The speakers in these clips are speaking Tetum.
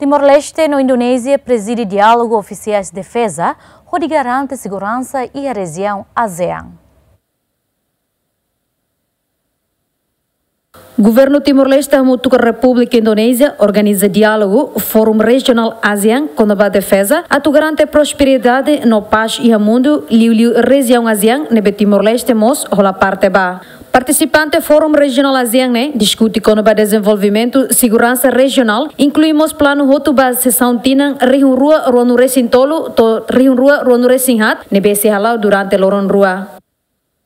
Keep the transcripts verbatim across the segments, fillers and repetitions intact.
Timor-Leste no Indonézia prezide diálogu ofisiais defeza hodi garante seguransa iha rejiaun ASEAN. Governu Timor-Leste hamutuk ho Repúblika Indonézia organiza diálogu Fórum Rejionál ASEAN kona-ba defeza atu garante prosperidade no pás iha mundu, liuliu rejiaun ASEAN ne'ebé Timor-Leste mós hola parte ba. Partisipante Fórum Rejionál ASEAN ne'e diskute kona-ba dezenvolvimentu seguransa rejionál, inklui mós planu hotu ba sesaun tinan rihun rua ruanulu-resin-tolu to'o rihun rua ruanulu-resin-haat ne'ebé sei hala'o durante loron rua.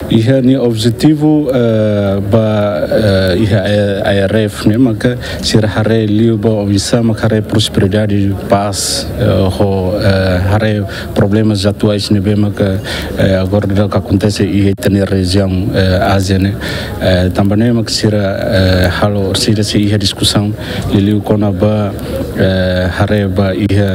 Iha nia objetivu, eh, ba, eh, iha, eh, A R F ne'e maka sira haree liu ba oinsá maka haree prosperidade, pás, eh, ho, eh, haree problemas atuais ne'ebé maka, eh, agora daudaun akontese iha ita-nia rejiaun, eh, ASEAN ne'e. Eh, tanba ne'e maka sira, eh, halo sira sei iha diskusaun liuliu kona-ba, eh, haree ba iha,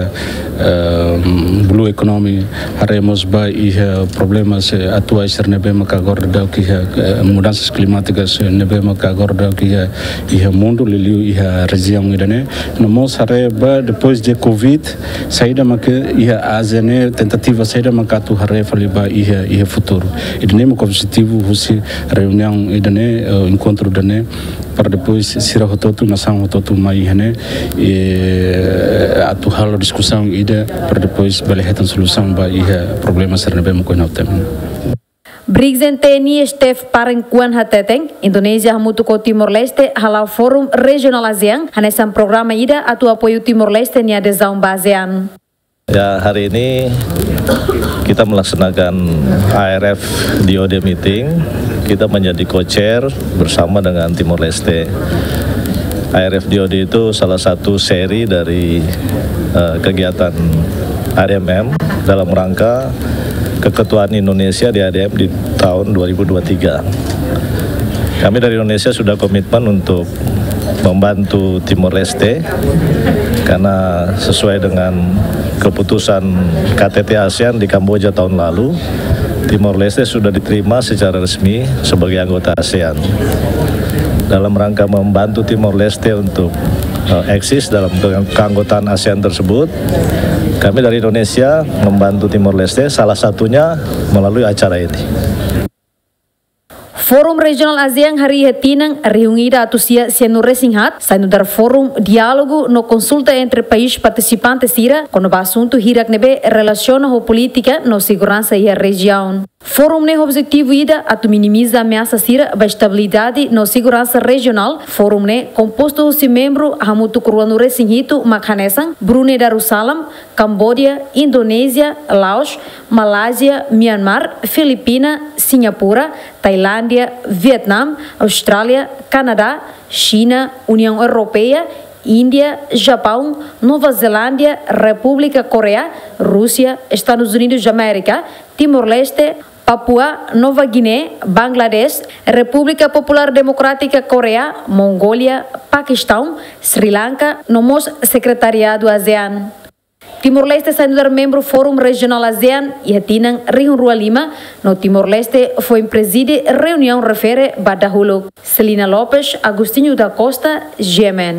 eh, blue economy, haree mós ba iha problemas, eh, atuais sira ne'ebé maka agora daudaun iha, eh, mudansa klimátika sira ne'ebé maka agora daudaun iha, iha mundu liuliu iha rejiaun ida-ne'e. No mós haree ba depois de covid, saida maka iha ASEAN ne'e, tentativa saida maka atu haree fali ba iha, iha futuru. Ida-ne'e maka objetivu husi reuniaun ida-ne'e, eh, enkontru ida-ne'e, para depois sira hotu-hotu, nasaun hotu-hotu mai iha ne'e, eh, atu halo diskusaun ida para depois bele hetan solusaun ba iha problema sira ne'ebé maka ohin ha'u temi. Brigjen T N I Stef Pareng Kuan hateten, Indonézia hamutuk ho Timor-Leste hala'o Fórum Rejionál ASEAN hanesan programa ida atu apoiu Timor-Leste nia adezaun ba ASEAN. Ya, hari ini kita melaksanakan A R F D O D meeting. Kita menjadi co-chair bersama dengan Timor Leste. A R F D O D itu salah satu seri dari, eh, kegiatan A D M M dalam rangka keketuaan Indonesia di A D M di tahun dua ribu dua tiga. Kami dari Indonesia sudah komitmen untuk membantu Timor Leste, karena sesuai dengan keputusan K T T ASEAN di Kamboja tahun lalu, Timor Leste sudah diterima secara resmi sebagai anggota ASEAN. Dalam rangka membantu Timor Leste untuk, eh, eksis dalam ke-, keanggotaan ASEAN tersebut, kami dari Indonesia membantu Timor Leste, salah satunya melalui acara ini. Fórum Rejionál ASEAN harii iha tinan rihun ida atus sia sianulu-resin-haat, sai nu'udar fórum diálogu no konsulta entre país partisipante sira kona-ba asuntu hirak ne'ebé relasiona ho polítika no seguransa iha rejiaun. Fórum ne'e objetivu ida atu minimiza ameasa sira ba estabilidade no seguransa rejionál. Fórum ne'e kompostu husi membru hamutuk ruanulu-resin-hitu mak hanesan Brunei Darussalam, Kamboja, Indonézia, Laos, Malázia, Myanmar, Filipina, Singapura, Tailándia, Vietnam, Austrália, Kanadá, Xina, Uniaun Europeia, Índia, Japaun, Nova Zelándia, Repúblika Koreia, Rúsia, Estadus Unidus Amérika, Timor-Leste, Papua Nova Guiné, Bangladesh, Repúblika Populár Demokrátika Koreia, Mongólia, Pakistaun, Sri Lanka, no mós Sekretariadu ASEAN. Timor-Leste sai nu'udar membru Fórum Rejionál ASEAN iha tinan rihun rua lima, no Timor-Leste foin prezide reuniaun refere ba dahuluk. Celina Lopes, Agostinho da Costa, G M N.